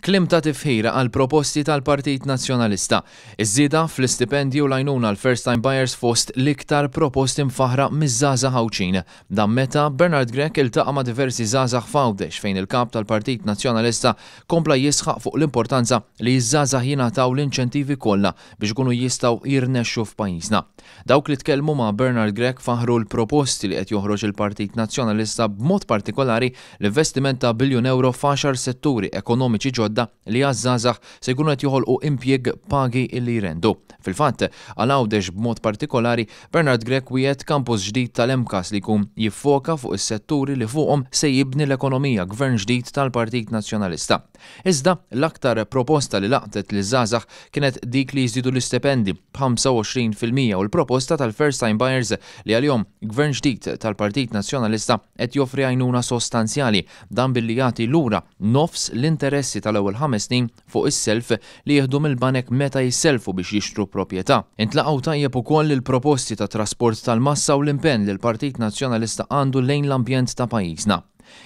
Kliem ta' tifħir għall-proposti tal-Partit Nazzjonalista. Iż-żieda fl-istipendji u l-għajnuna għal first time buyers fost l-iktar proposti mfaħħra miż-żgħażagħ Għawdxin. Dan meta Bernard Grech iltaqa' ma' diversi żgħażagħ f'Għawdex fejn il-Kap tal-Partit Nazzjonalista kompla jisħaq fuq l-importanza li ż-żgħażagħ jingħataw l-inċentivi kollha biex ikunu jistgħu jirnexxu f'pajjiżna. Dawk li tkellmu ma' Bernard Grech faħħru l-proposti li qed joħroġ il-Partit Nazzjonalista b'mod partikolari l-investiment ta' biljun ewro f'għaxar setturi ekonomiċi ġodda li għaż-żgħażagħ se jkunu qed joħolqu impjieg b'pagi li jrendu. Fil-fatt, għal Għawdex b'mod partikolari, Bernard Grech wiegħed kampus ġdid tal-MCAST li jkun jiffoka fuq is-setturi li fuqhom se jibni l-ekonomija gvern ġdid tal-Partit Nazzjonalista. Iżda, l-aktar proposta li laqtet liż-żgħażagħ kienet dik li jiżdiedu l-istipendi b'25% u l-proposta tal-first time buyers li għalihom Gvern ġdid tal-Partit Nazzjonalista qed joffri għajnuna sostanzjali, dan billi jagħti lura nofs l-interessi tal-ewwel ħames snin fuq is-self li jieħdu mill-banek meta jissellfu biex jixtru proprjetà. Intlaqgħu tajjeb ukoll il-proposti ta' trasport tal-massa u l-impenn li l-Partit Nazzjonalista għandu lejn l-ambjent ta' pajjiżna.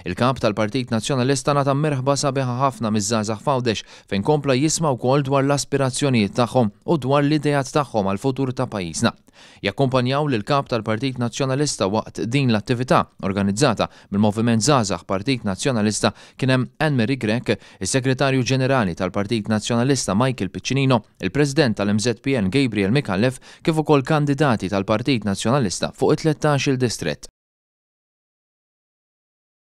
Il-Kap tal-Partit Nazzjonalista ngħata merħba sabiħa ħafna miż-żgħażagħ f'Għawdex fejn kompla jisma' wkoll dwar l-aspirazzjonijiet tagħhom u dwar l-ideat tagħhom għall-futur ta' pajjiżna. Jakkumpanjaw lill-Kap tal-Partit Nazzjonalista waqt din l-attività organizzata mill-Moviment Żgħażagħ Partit Nazzjonalista kien hemm Anne Marie Grech, is-Segretarju Ġenerali tal-Partit Nazzjonalista Michael Piccinino, il-President tal-MŻPN Gabriel Micallef kif ukoll kandidati tal-Partit Nazzjonalista fuq it-tlettax-il distrett.